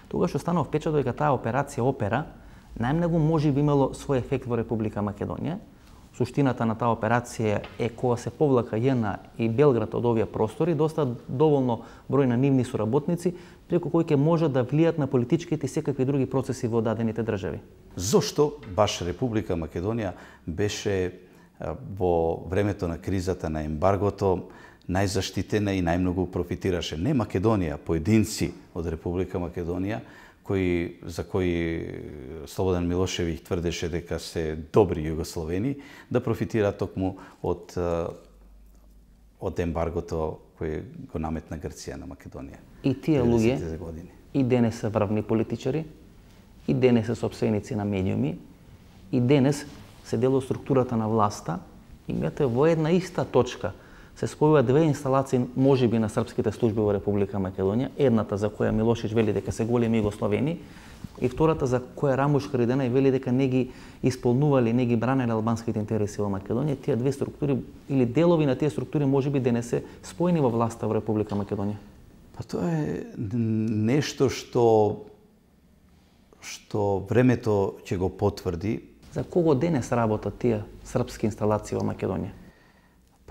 тогаш останав впечаток дека таа операција Опера најмногу може би имало свој ефект во Република Македонија. Суштината на таа операција е кога се повлака ЈНА и Белград од овие простори, доста доволно број на нивни соработници, преку кои ќе можат да влијат на политичките и секакви други процеси во дадените држави. Зошто баш Република Македонија беше во времето на кризата на ембаргото најзаштитена и најмногу профитираше? Не Македонија, поединци од Република Македонија, кои, за кои Слободан Милошевиќ тврдеше дека се добри југословени, да профитираат токму од, од ембаргото кој го наметна Грција на Македонија. И тие луѓе и денес се врвни политичари, и денес се сопственици на медиуми, и денес се дел од структурата на власта, и имате во една иста точка се спојува две инсталации можеби на српските служби во Република Македонија, едната за која Милошевиќ вели дека се големи југословени и втората за која Рамуш Хариденај вели дека не ги исполнували, не ги бранеле албанските интереси во Македонија. Тие две структури или делови на тие структури можеби денес се спојени во власта во Република Македонија. Па тоа е нешто што што времето ќе го потврди. За кого денес работат тие српски инсталации во Македонија?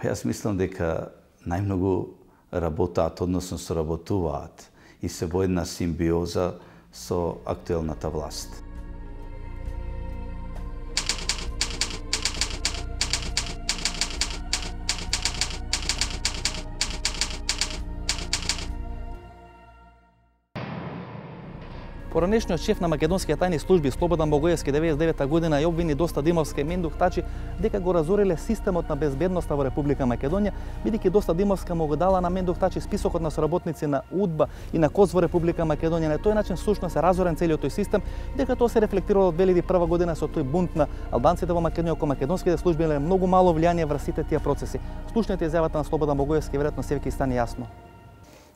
Па јас мислам дека најмногу работаат, односно соработуваат и се во една симбиоза со актуелната власт. Поранешниот шеф на македонските тајни служби Слободан Богоевски деветдесет и девета година ја обвини Доста Димовска и Мендух Тачи дека го разориле системот на безбедноста во Република Македонија, бидејќи Доста Димовска му го дала на Мендух Тачи списокот на соработници на УДБА и на КОС во Република Македонија. На тој начин всушност се разорен целиот тој систем, дека тоа се рефлектирало од две илјади и прва година со тој бунт на албанците во Македонија, кога македонските служби имале многу мало влијание врз сите тие процеси. Слушнете изјавата на Слободан Богоевски, веројатно се ќе стане јасно.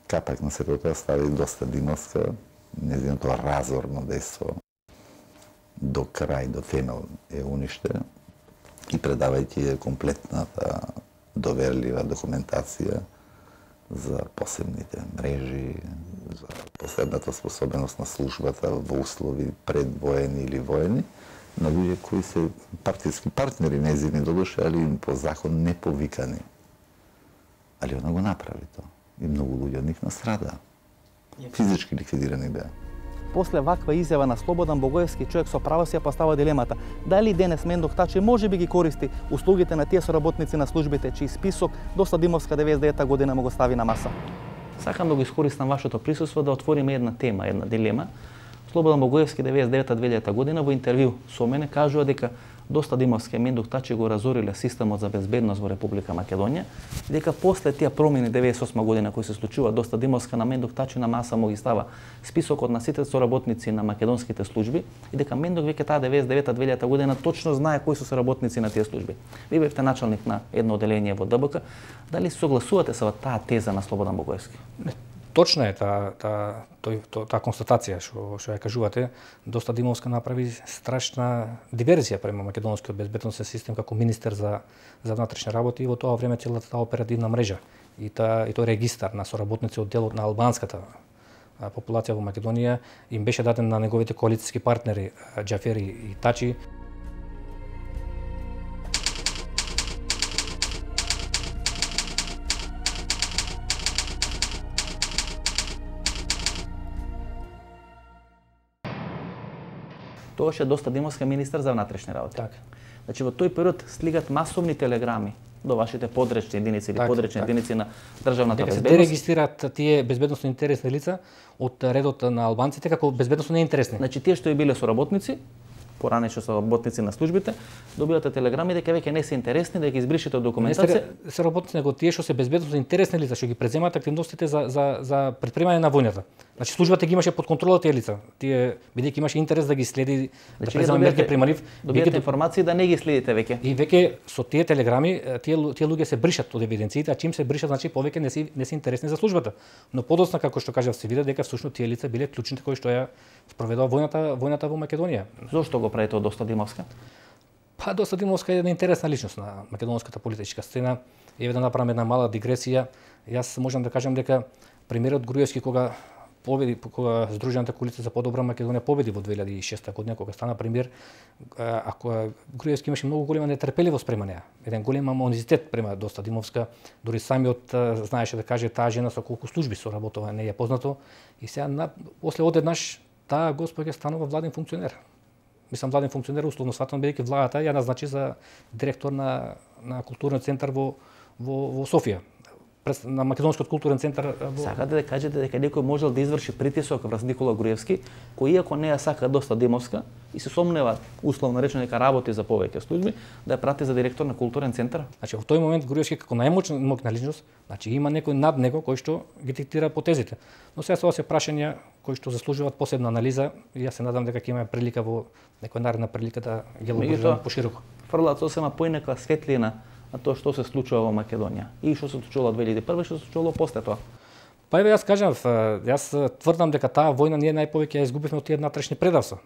Капак на сето тоа стави Доста Димовска, неziното разорно дејство до крај, до темел е уништен и предавајќи комплетната доверлива документација за посебните мрежи, за посебната способност на службата во услови предвоени или воени, на луѓе кои се партиски партнери незини додуше, али по закон не повикани. Али она го направи тоа. И многу луѓе од нив настрада. Физички ликвидирани беа. После ваква изјава на Слободан Богоевски, човек со право си ја постава дилемата дали денес Мендух Тачи може би ги користи услугите на тие соработници на службите чиј список Доста Димовска деветдесет и девета година му го стави на маса. Сакам да го искористам вашето присуство да отвориме една тема, една дилема. Слободан Богоевски деветдесет и девета две илјадета година во интервју со мене кажува дека Доста Димовски и Мендух Тачи го разориле системот за безбедност во Република Македонија, дека после тие промени деветдесет и осма година кои се случува, Доста Димовска на Мендух Тачи на маса му ги става списокот на сите соработници на македонските служби и дека Мендух веќе таа деветдесет и девета две илјадета година точно знае кои се соработници на тие служби. Ви бевте началник на едно оделение во ДБК, дали согласувате со таа теза на Слободан Богоевски? Точна е таа таа тој таа констатација што што ја кажувате. Доста Димовска направи страшна диверзија према македонскиот безбедносен систем како министер за за внатрешни работи и во тоа време целата таа оперативна мрежа и таа и тој регистар на соработници од делот на албанската популација во Македонија им беше даден на неговите коалициски партнери Џафери и Тачи. Тогаш е Доста Димовска министер за внатрешни работи. Така. Значи во тој период слигат масовни телеграми до вашите подречни единици или так, подречни так. единици на државната дека безбедност. Дека се дерегистрираат тие безбедносно интересни лица од редот на албанците како безбедносно неинтересни. Значи тие што и биле соработници, поранешни соработници на службите, добивате телеграми дека веќе не се интересни, да ги избришете од документација. Не се работници, него тие што се безбедносно интересни лица, што ги преземаат активностите за за за предпримање на војната. Значи службата ги имаше под контрола тие лица. Тие бидејќи имаше интерес да ги следи, да презема мерки прима нив, добивате информации да не ги следите веќе. И веќе со тие телеграми тие тие луѓе се бришат од евиденциите, а чим се бришат, значи повеќе не се не се интересни за службата. Но подоцна, како што кажав, се види дека всушност тие лица биле клучните кои што ја спроведува војната војната во Македонија. Зошто го прави тоа Доста Димовска? Па Доста Димовска е една интересна личност на македонската политичка сцена. Еве да направам една мала дигресија. Јас можам да кажам дека премиерот Груевски кога победи, кога Сдружената коалиција за подобра Македонија победи во две илјади и шеста година кога стана премиер, ако Груевски имаше многу голема нетрпеливост према неа, еден голем амонизитет према Доста Димовска, дури самиот знаеше да каже таа жена со колку служби соработува, не е познато, и сега на, после одеднаш таа госпоѓа станува владен функционер. Мислам владен функционер условно сватано бидејќи владата ја назначи за директор на на културен центар во во во Софија. На Македонскиот културен центар во... Сакате да кажете дека некој можел да изврши притисок врз Никола Груевски, кој иако не ја сака Доста Димовска и се сомнева условно речено дека работи за повеќе служби, да ја прати за директор на културен центар? Значи во тој момент Груевски како најмоćна моќна личност, значи има некој над него кој што ги диктира потезите. Но сега тоа се прашања кои што заслужуваат посебна анализа и јас се надам дека ќе имаме прилика во некоја наредна прилика да ги елаборираме пошироко. Фрлаат сосема поинаква светлина на тоа што се случува во Македонија и што се случувало две илјади и прва и што се случувало после тоа. Па еве јас кажам, јас тврдам дека таа војна ние најповеќе ја изгубивме од тие внатрешни предавства.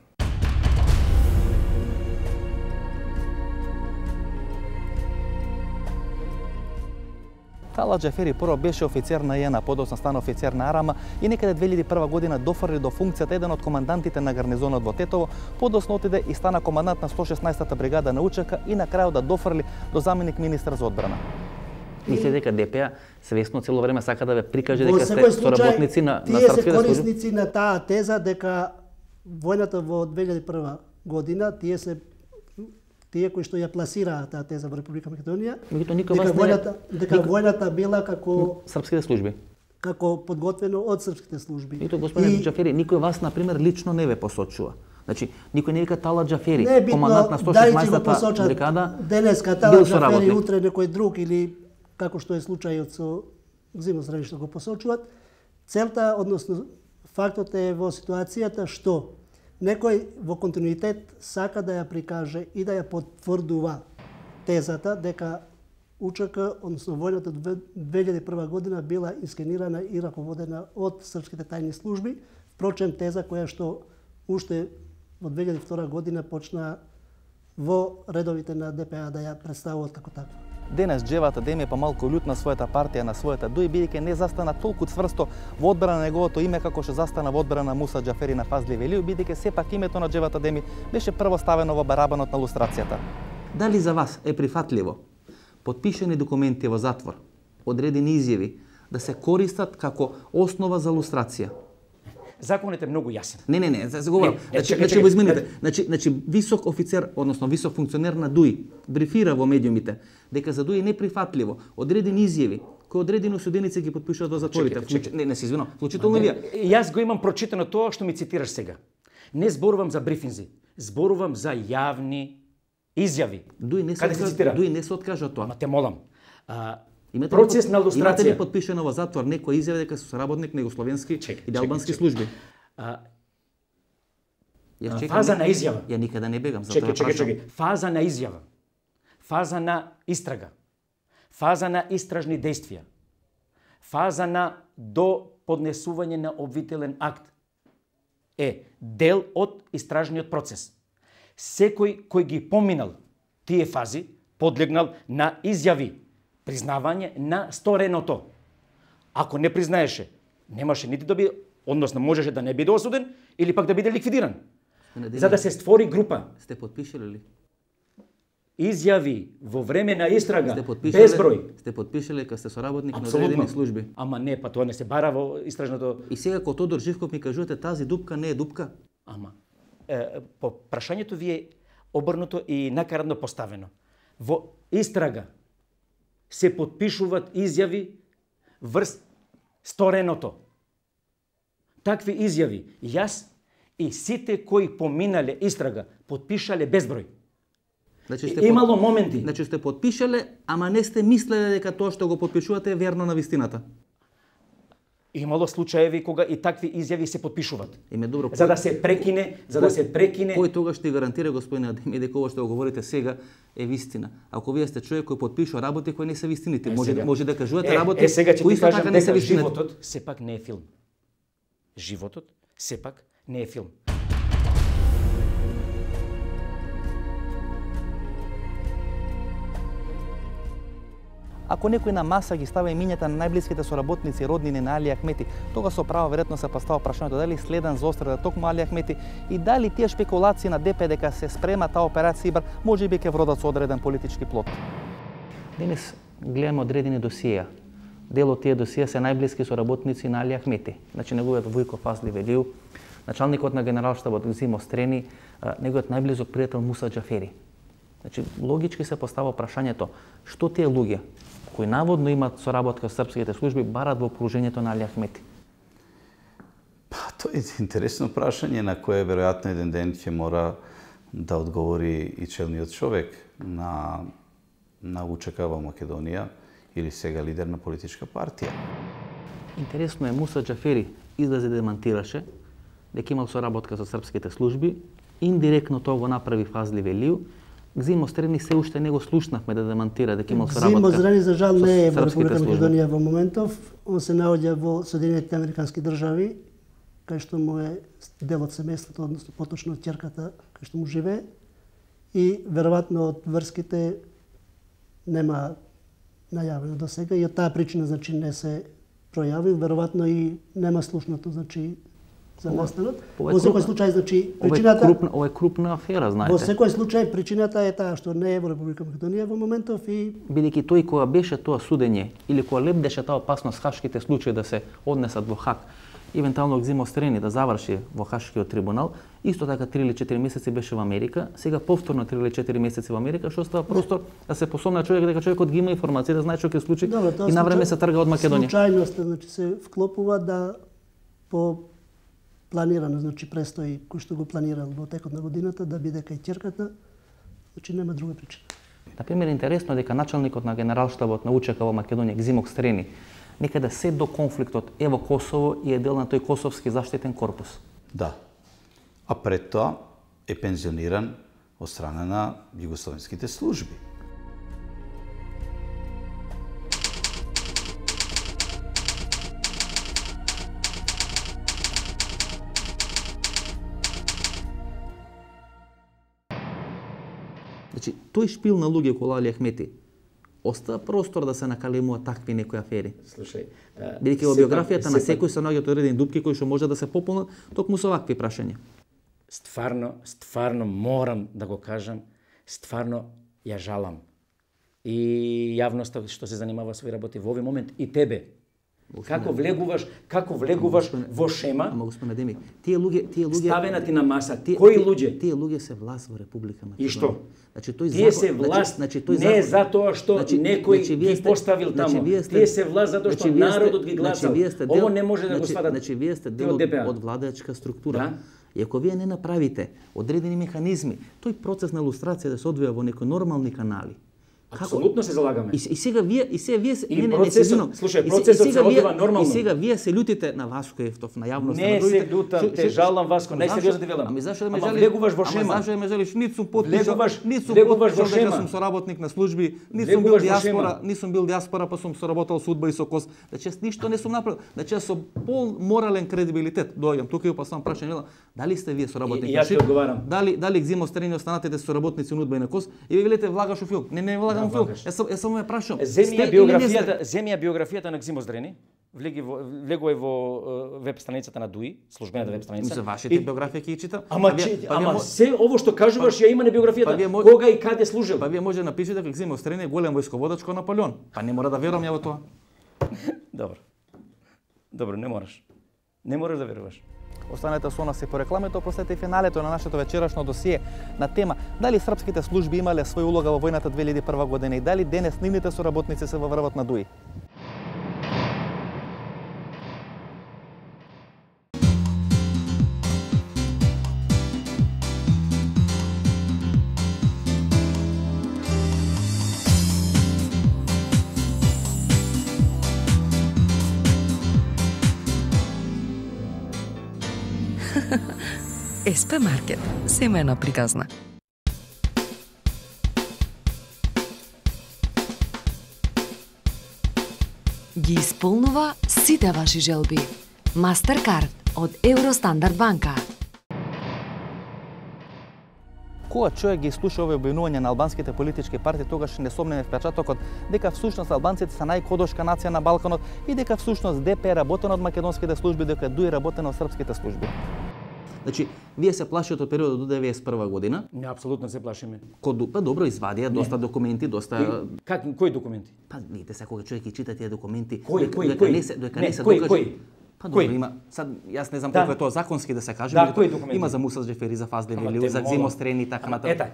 Тала Џафери прво беше офицер на ЈЕНА, подоцна стана офицер на АРАМА и некаде две илјади и прва година дофрли до функцијата еден од командантите на гарнизонот во Тетово, подоцна отиде и стана командант на сто шеснаесета бригада на УЧК и на крајот да дофрли до заменик министар за одбрана. Мислите дека ДП свесно цело време сака да ве прикаже дека сте соработници на на српските служби? Тие се корисници на таа теза дека војната во две илјади и прва година тие се тие кои што ја пласираа таа теза во Република Македонија, дека војната дека војната била како српските служби. како подготвено од српските служби. Ито, господине и... Џафери, никој вас, например, лично не ве посочува. Значи, никој не вика Тала Џафери, командант на сто шеснаесетта бригада, денеска Тала Џафери, утре некој друг или како што е случајот со Зимо Здравич што го посочуваат. Целта, односно фактот е во ситуацијата што некој во континуитет сака да ја прикаже и да ја потврдува тезата дека УЧК, односно војната две илјади и прва година била инскенирана и раководена од српските тајни служби, впрочем теза која што уште во две илјади и втора година почна во редовите на ДПА да ја представуваат како таква. Денес Џевата Деми е помалку лют на својата партија, на својата дуј, бидејќи не застана толку цврсто во одбрана на неговото име како што застана во одбрана на Муса Џафери на Фазли Велију, бидејќи сепак името на Џевата Деми беше прво ставено во барабанот на лустрацијата. Дали за вас е прифатливо потпишани документи во затвор, одредени изјави да се користат како основа за лустрација? Законот е многу јасен. Не, не, не, за говорам. Значи, значи го измените. Значи, значи висок офицер, односно висок функционер на ДУИ брифира во медиумите дека за ДУИ е неприфатливо одредени изјави кои одредени осуденици ги потпишуваат во затворите. Чекай, чекай. Не, не се извинувам. Вклучително вие. Јас го имам прочитано тоа што ми цитираш сега. Не зборувам за брифинзи, зборувам за јавни изјави. ДУИ не се откажа, ДУИ не се откажа од тоа. Ма те молам. А, Имате процес ли, на лустрација. Имате ли подпишено во затвор некој изјава дека се соработник на југословенски и албански служби? А, Ја чекам, фаза на изјава. Ја никада не бегам за чекай, тоа чекай, чекай. Фаза на изјава. Фаза на истрага. Фаза на истражни действија. Фаза на до поднесување на обвинителен акт е дел од истражниот процес. Секој кој ги поминал тие фази подлегнал на изјави, признавање на стореното. Ако не признаеше, немаше нити да биде, односно можеше да не биде осуден или пак да биде ликвидиран. За да се створи група. Сте потпишале ли? Изјави во време на истрага, сте безброј. Сте потпишале кога сте соработник на одредени служби? Ама не, па тоа не се бара во истражното... И сега кога Тодор Живков ми кажувате тази дупка не е дупка? Ама, е, по прашањето ви е обрнуто и накарадно поставено. Во истрага се потпишуваат изјави врз стореното. Такви изјави јас и сите кои поминале истрага потпишале безброј. Значи сте имало под... моменти. Значи сте потпишале, ама не сте мислеле дека тоа што го потпишувате е верно на вистината. Имало случаеви кога и такви изјави се потпишуваат. Име добро. За да се прекине, за кој, да се прекине. Кој тогаш ќе гарантира, господине Адеми, дека ова што го говорите сега е вистина? Ако вие сте човек кој потпишува работи кои не се вистините, може сега. може да кажувате е, работи е, сега кои исто така не се вистините. Животот сепак не е филм. Животот сепак не е филм. Ако некој на маса ги става имињата на најблиските соработници и роднини на Али Ахмети, тога со право веројатно се постава прашањето дали следен заострада токму Али Ахмети и дали тие шпекулации на ДП дека се спрема таа операција Ибар можеби ќе вродат со одреден политички плод. Денес гледаме одредени досија. Дел од тие досија се најблиски соработници на Али Ахмети. Значи неговиот Војко Фазли Велију, началникот на генералштабот Зимо Стрени, неговиот најблизок пријател Муса Џафери. Значи логички се постава прашањето што тие луѓе кои наводно имаат соработка со српските служби барат во положението на Али Ахмети? Па, тоа е интересно прашање на кое веројатно еден ден ќе мора да одговори и челниот човек на на УЧК во Македонија или сега лидер на политичка партија. Интересно е, Муса Џафери излезе да демантираше дека имал соработка со српските служби, индиректно тоа го направи Фазли Велију. Зимо Стрени се уште не го слушнавме да демантира дека имал соработка. Зимо Стрени за жал не е во Република Македонија во моментов. Он се наоѓа во Соединетите Американски држави, кај што му е дел од семејството, односно поточно од ќерката, кај што му живее. И веројатно од врските нема најавено до сега и од таа причина значи не се пројавил, веројатно и нема слушнато значи за настанот. Во секој случај значи причината ова е крупна, ова е крупна афера, знаете. Во секој случај причината е таа што не е во Република Македонија во моментов и бидејќи тој кога беше тоа судење или кога лебдеше таа опасност хашките случаи да се однесат во Хаг, евентуално Екзимо Стрени да заврши во Хашкиот трибунал, исто така три или четири месеци беше во Америка, сега повторно три или четири месеци во Америка, што остава простор да се посомна човек дека човекот ги има информација, да знае што ќе случи и навреме се трга од Македонија. Случајност, значи се вклопува да по планирано, значи престои кој што го планирал во текот на годината да биде кај ќерката, значи нема друга причина. Например, интересно дека началникот на генералштабот на УЧК во Македонија Екзимо Стрени некаде се до конфликтот е во Косово и е дел на тој Косовски заштитен корпус. Да. А пред тоа е пензиониран од страна на југословенските служби. Значи, тој шпил на луѓе околу Али Ахмети остава простор да се накалемуваат такви некои афери. Слушај, бидејќи во биографијата на секој се наоѓаат одредени дупки кои што може да се пополнат токму со вакви прашања. Стварно, стварно морам да го кажам, стварно ја жалам. И јавноста што се занимава со овие работи во овој момент и тебе. Како влегуваш, како влегуваш во шема? Ама господин Демик, тие луѓе, тие луѓе ставена ти на маса. Кои луѓе? Тие луѓе се власт во Република Македонија. И што? Значи тој тие се власт, значи, тој не за тоа што значи, некој значи, ги поставил таму. Значи, сте, тие се власт затоа што значи, народот ги гласал. Значи, Ово не може да значи, го сватат. Значи вие сте дел од, од владачка структура. Да? И ако вие не направите одредени механизми, тој процес на илустрација да се одвија во некои нормални канали. Апсолутно се залагаме. И, и сега вие и сега вие и не не не се слушај, процесот се одвива нормално. И сега вие се лутите на Васко Ефтов, на јавноста, не на другите. Не се лутам, те жалам Васко, најсериозно ти велам. Ами зашто да ме жалиш? Ама влегуваш во шема. Ама зашто да ме жалиш? Ниту сум потпишал, ниту сум влегуваш во потпишал дека шема. сум соработник на служби, ниту сум бил диаспора, не сум бил диаспора, па сум соработал со УДБА и со КОС. Значи јас ништо не сум направил. Значи јас со пол морален кредибилитет доаѓам тука и па сам прашање, дали сте вие соработник на ШИП? Дали дали Екзимо Стрени останатите соработници на УДБА и на КОС? И ви велите влагаш во филм. Не, не влагам во филм. Јас само ме прашам. Земја биографијата, земја биографијата на Екзимо Стрени, влеги во влегува во веб страницата на ДУИ, службената веб страница. За вашите и... биографија ќе читам. Ама, па, па, ама мо... се ово што кажуваш ја има на биографијата. Па, мо... Кога и каде служил? Па вие може да напишете дека Екзимо Стрени е голем војсководач кој Наполеон. Па не мора да верувам ја во тоа. Добро. Добро, не мораш. Не мораш да веруваш. Останете со нас и по рекламите, опростете финалето на нашето вечерашно досие на тема дали српските служби имале своја улога во војната две илјади и прва година и дали денес нивните соработници се во врвот на ДУИ. ес пе Маркет, семејна приказна. Ги исполнува сите ваши желби. Мастеркард од Евростандард банка. Кога човек ги слуша овие обвинувања на албанските политички партии, тогаш несомнен е впечатокот дека всушност албанците се најкодошка нација на Балканот и дека всушност Д П е работено од македонските служби, дека ДУИ работено од српските служби. Значи, вие се плашите од периодот до деветдесет и прва година? Не, апсолутно се плашиме. Код па добро извадија доста не. документи, доста и, как кои документи? Па видите се кога човек ги чита тие документи, кои, дека, кои, дека кои? не се дека не, не се кои, докаже. Кои? Па добро, има сад јас не знам да. колку е тоа законски да се каже, да, кои документи? Има за Муса Джефери, за Фаздели, за Екзимо Стрени и така натаму. Ета.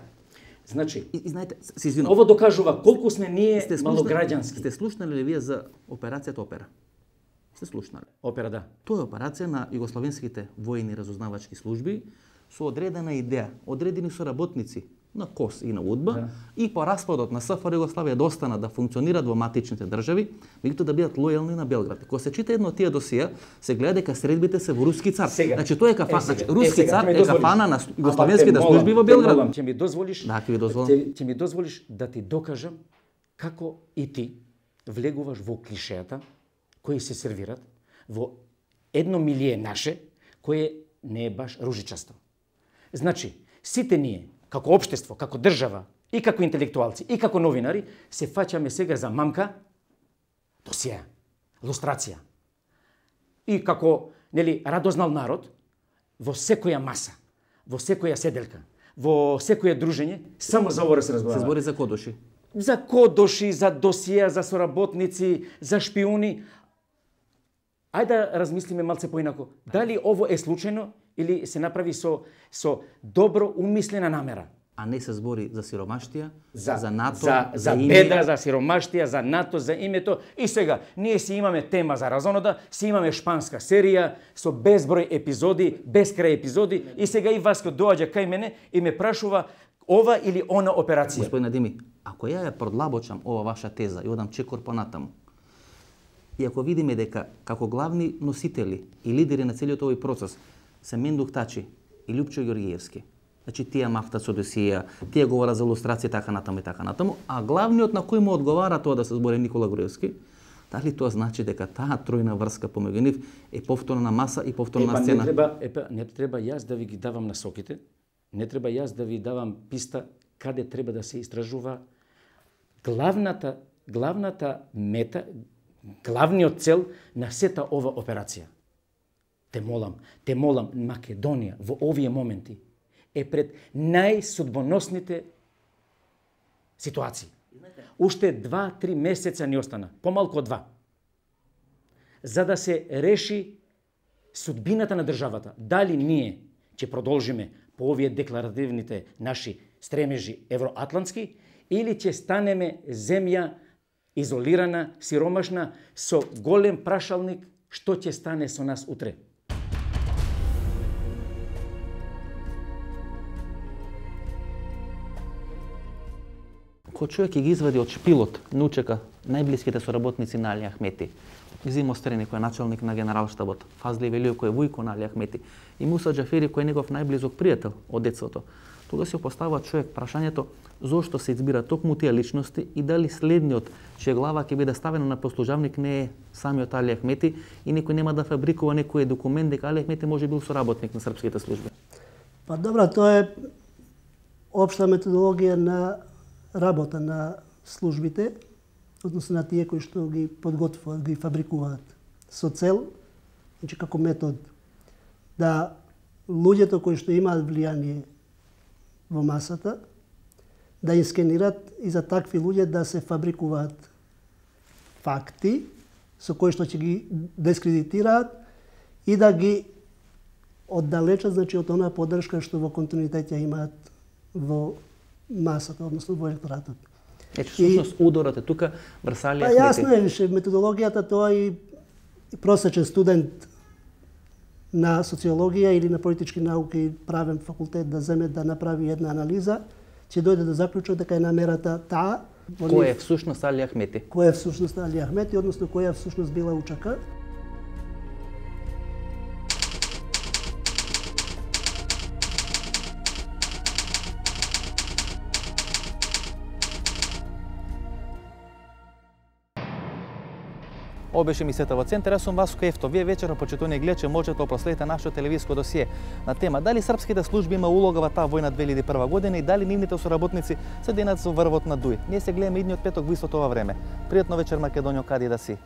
Значи, и, и знаете, се извинувам. Ово докажува колку сме ние сте малограѓански. Сте слушнали ли вие за операцијата Опера? Сте слушнали? Опера, да. Тоа е операција на југословенските војни разузнавачки служби со одредена идеја, одредени соработници на КОС и на УДБА да. и по распадот на СФР Југославија да останат да функционираат во матичните држави, меѓутоа да бидат лојални на Белград. Кога се чита едно од тие досија, се гледа дека средбите се во руски цар. Сега. Значи тоа е кафана, е, значи руски е, цар е кафана на југословенските служби во Белград. Ќе ми дозволиш? Да, ќе ви дозволам. Ќе, ќе ми дозволиш да ти докажам како и ти влегуваш во клишеата кои се сервират во едно милие наше кое не е баш ружичасто. Значи, сите ние, како општество, како држава, и како интелектуалци, и како новинари, се фаќаме сега за мамка, досија, лустрација. И како, нели, радознал народ, во секоја маса, во секоја седелка, во секоја дружење, само за ово се разговара. Се збори за кодоши. За кодоши, за досија, за соработници, за шпиони. Ајде да размислиме малце поинако. Дали ово е случајно или се направи со со добро умислена намера? А не се збори за сиромаштија, за, за НАТО, за, за, за беда, за сиромаштија, за НАТО, за името. И сега, ние си имаме тема за разонода, си имаме шпанска серија со безброј епизоди, безкрај епизоди, и сега и Васко доаѓа кај мене и ме прашува ова или она операција. Господине Дими, ако ја ја продлабочам ова ваша теза и одам чекор понатаму, и ако видиме дека како главни носители и лидери на целиот овој процес се Мендух Тачи и Лјупчо Ѓоргиевски, значи тие мафтат со досија, тие говорат за илустрација така натаму и така натаму, а главниот на кој му одговара тоа да се збори Никола Груевски, дали тоа значи дека таа тројна врска помеѓу нив е повторна маса и повторна епа, сцена? Не треба, епа, не треба јас да ви ги давам насоките, не треба јас да ви давам писта каде треба да се истражува. Главната, главната мета, главниот цел на сета ова операција. Те молам, те молам, Македонија во овие моменти е пред најсудбоносните ситуации. Уште два-три месеца ни остана, помалку од два. За да се реши судбината на државата. Дали ние ќе продолжиме по овие декларативните наши стремежи евроатлантски или ќе станеме земја изолирана, сиромашна, со голем прашалник што ќе стане со нас утре. Кој човек ќе ги извади од шпилот на учека најблиските соработници на Али Ахмети, Зимо Стрени кој е началник на генералштабот, Фазли Велиев кој е вујко на Али Ахмети и Муса Џафери кој е негов најблизок пријател од децото, тога се поставува човек прашањето зошто се избира токму тие личности и дали следниот чија глава ќе биде ставена на послужавник не е самиот Али Ахмети и некој нема да фабрикува некој документ дека Али Ахмети може бил соработник на српските служби. Па добро, тоа е општа методологија на работа на службите, односно на тие кои што ги подготвуваат, ги фабрикуваат со цел, значи како метод, да луѓето кои што имаат влијание во масата, да ја скенират и за такви луѓе да се фабрикуваат факти со кои што ќе ги дискредитираат и да ги оддалечат, значи, од онаа поддршка што во континуитет ја имаат во масата, односно во електоратот. Ече, всушност, удорот е тука врз Али Ахмети. Па јасно е, више, методологијата тоа и, и просечен студент на социологија или на политички науки, правен факултет да земе да направи една анализа, ќе дојде до заклучок дека е намерата таа. Кој е всушност Али Ахмети? Кој е всушност Али Ахмети, односно која всушност била УЧК. Ова беше емисијата во Центар, јас сум Васко Ефто. Вие вечера, почитувани гледачи, можете да проследите нашето телевизиско досие на тема дали српските служби има улога во таа војна две илјади и прва година и дали нивните соработници се денат со врвот на Дуј. Ние се гледаме идниот петок во истото ова време. Пријатно вечер, Македонијо, каде да си.